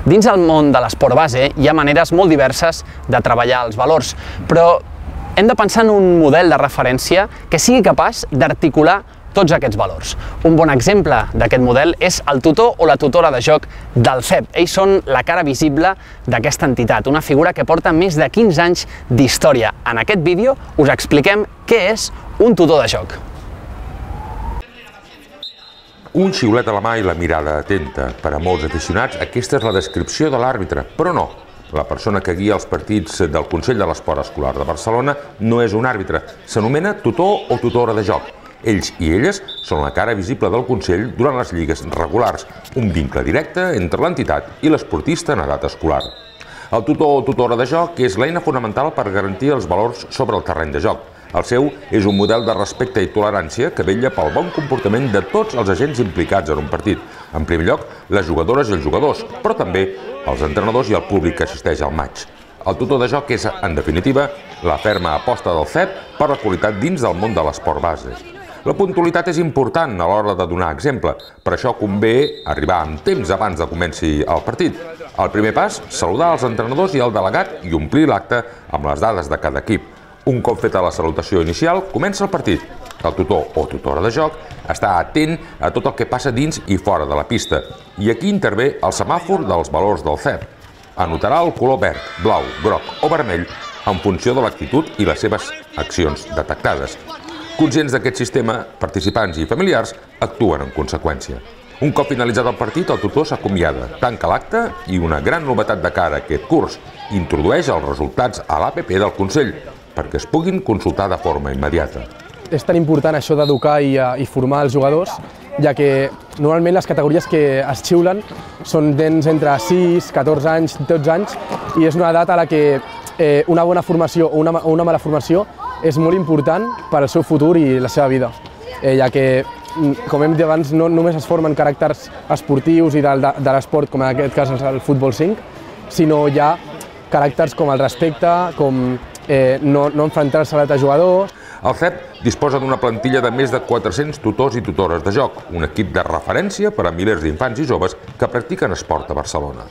Dins el món de l'esport base hi ha maneres molt diverses de treballar els valors, però hem de pensar en un model de referència que sigui capaç d'articular tots aquests valors. Un bon exemple d'aquest model és el tutor o la tutora de joc del CEP. Ells són la cara visible d'aquesta entitat, una figura que porta més de 15 anys d'història. En aquest vídeo us expliquem què és un tutor de joc. Un xiulet a la mà i la mirada atenta. Per a molts aficionats, aquesta és la descripció de l'àrbitre, però no. La persona que guia els partits del Consell de l'Esport Escolar de Barcelona no és un àrbitre, s'anomena tutor o tutora de joc. Ells i elles són la cara visible del Consell durant les lligues regulars, un vincle directe entre l'entitat i l'esportista en edat escolar. El tutor o tutora de joc és l'eina fonamental per garantir els valors sobre el terreny de joc. El seu és un model de respecte i tolerància que vetlla pel bon comportament de tots els agents implicats en un partit. En primer lloc, les jugadores i els jugadors, però també els entrenadors i el públic que assisteix al maig. El tutor de joc és, en definitiva, la ferma aposta del CEP per la qualitat dins del món de l'esport base. La puntualitat és important a l'hora de donar exemple, per això convé arribar amb temps abans de comenci el partit. El primer pas, saludar els entrenadors i el delegat i omplir l'acte amb les dades de cada equip. Un cop feta la salutació inicial, comença el partit. El tutor o tutora de joc està atent a tot el que passa dins i fora de la pista. I aquí intervé el semàfor dels valors del CEP. Anotarà el color verd, blau, groc o vermell en funció de l'actitud i les seves accions detectades. Conscients d'aquest sistema, participants i familiars actuen en conseqüència. Un cop finalitzat el partit, el tutor s'acomiada, tanca l'acte i una gran novetat de cara a aquest curs, introdueix els resultats a l'APP del Consell, perquè es puguin consultar de forma immediata. És tan important això d'educar i formar els jugadors, ja que normalment les categories que es xiulen són nens entre 6, 14 anys, 12 anys, i és una edat a la que una bona formació o una mala formació és molt important per al seu futur i la seva vida, ja que, com hem dit abans, no només es formen caràcters esportius i de l'esport, com en aquest cas el futbol 5, sinó hi ha caràcters com el respecte, com no enfrontar-se a altres jugadors. El CEP disposa d'una plantilla de més de 400 tutors i tutores de joc, un equip de referència per a milers d'infants i joves que practiquen esport a Barcelona.